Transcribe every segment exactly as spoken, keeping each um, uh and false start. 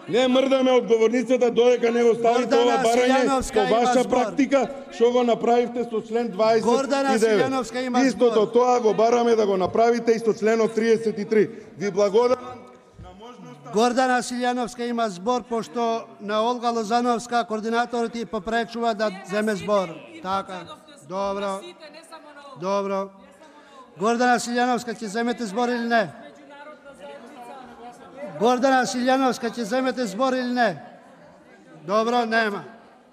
Не мрдаме одговорницата додека не го ставите ова барање по ваша практика, што го направивте со член дваесет и девет. Истото тоа го бараме да го направите и со членот триесет и три. Ви благодарам на можноста. Гордана Силјановска има збор, пошто на Олга Лозановска координаторот ти попречува да земе збор. Така. Добро. Добро. Гордана Силјановска, ќе земете збор или не? Гордана Силјановска, ќе земете збор или не? Добро, нема.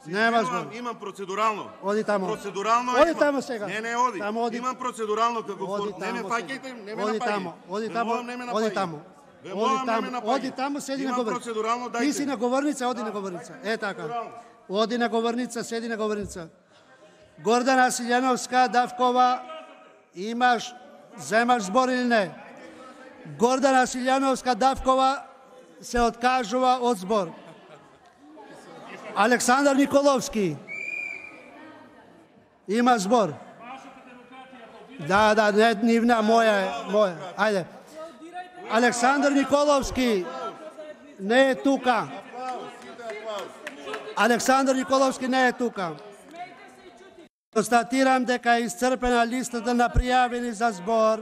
Нема збор. Имам процедурално. Оди тамо. Процедурално Оди тамо сега. Не, не, оди. Тамо оди. Имам процедурално како не ме фаќајте, не ме напаѓајте. Оди тамо, оди тамо. Оди тамо. Оди тамо. Оди тамо, седи на говорница. Ти си на говорница, оди на говорница. Е така. Оди на говорница, седи на говорница. Гордана Силјановска Давкова, имаш земаш збор или не? Гордана Силјановска Давкова се откажува од збор. Александар Николовски има збор. Да, да, не нивна, моја е, моја. Ајде. Александар Николовски не е тука. Александар Николовски не е тука. Констатирам дека е исцрпена листата на пријавени за збор.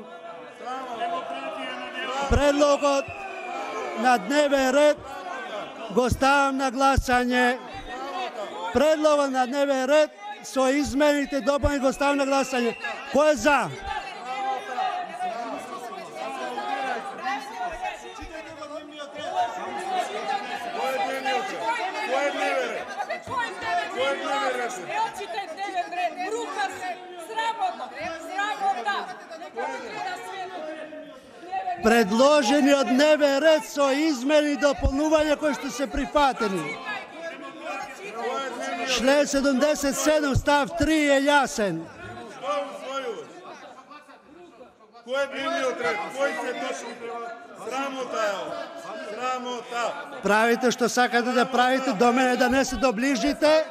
Предлогот на дневен ред го ставам на гласање. Предлогот на дневен ред со измените допълни го ставам на гласање. Кој е за? Предложениот дневен ред со измени и дополнувања кои што се прифатени. Член седумдесет и седум став три е јасен. Кој е дневниот ред? Кој се точно срамота е ова? Срамота. Правите што сакате да правите, до мене да не се доближите.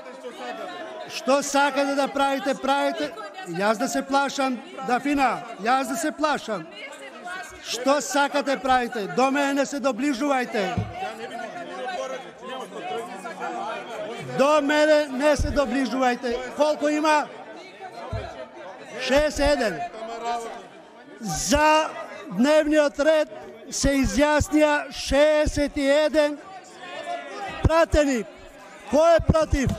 Што сакате да правите, правите. Јас да се плашам, Дафина, јас да се плашам. Што сакате правите? До мене не се доближувајте. До мене не се доближувајте. Колку има? шест еден. За дневниот ред се изјаснија шеесет и еден пратени. Кој е против?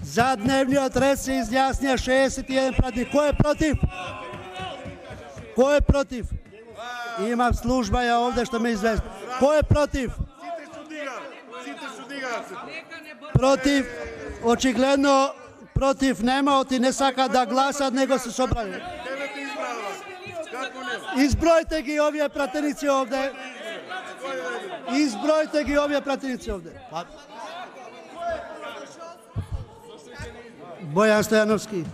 За дневниот ред се изјаснија шеесет и еден пратени. Кој е против? Кој е против? Имам служба ја овде што ме извести. Кој е против? Против, очигледно против нема, оти не сака да гласат, него се собрали. Избројте ги овие пратеници овде. Избројте ги овие пратеници овде. Бојан Стојановски.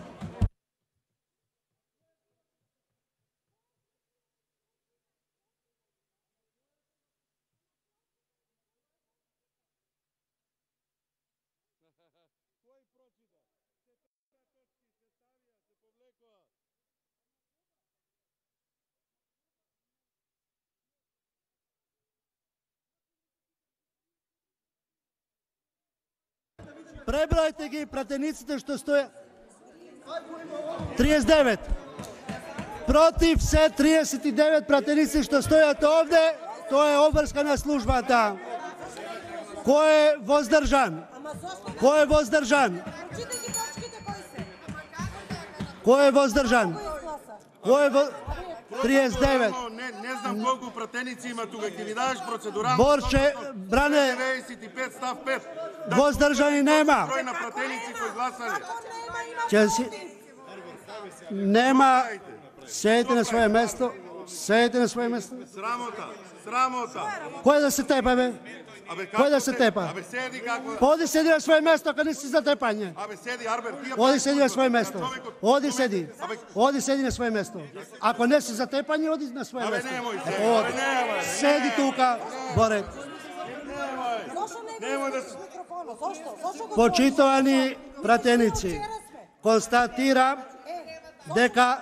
Пребројте ги пратениците што стоја. триесет и девет. Против се триесет и девет пратеници што стојат овде, тоа е обврска на службата. Кој е воздржан? Кој е воздржан? Кој е воздржан? Кој е во... триесет и девет. Не, не знам колку пратеници има тука, ќе ви дадеш процедурално. Борче, бране, деветдесет и пет став пет. воздржани нема. Број на пратеници кои гласале. Ќе си... Нема. Седите на своје место. Седите на своје место. Срамота, срамота. Кој да се тепа, бе? Кој да се тепа? Абе седи како... Оди седи на своје место, кога не си за тепање. Абе седи, Арбер, ти... Оди седи на своје место. Оди седи. Оди седи на своје место. Ако не си за тепање, оди на своје место. Абе немој се. Оди. Седи тука, Борет. Немој да се... Почитувани пратеници, констатирам дека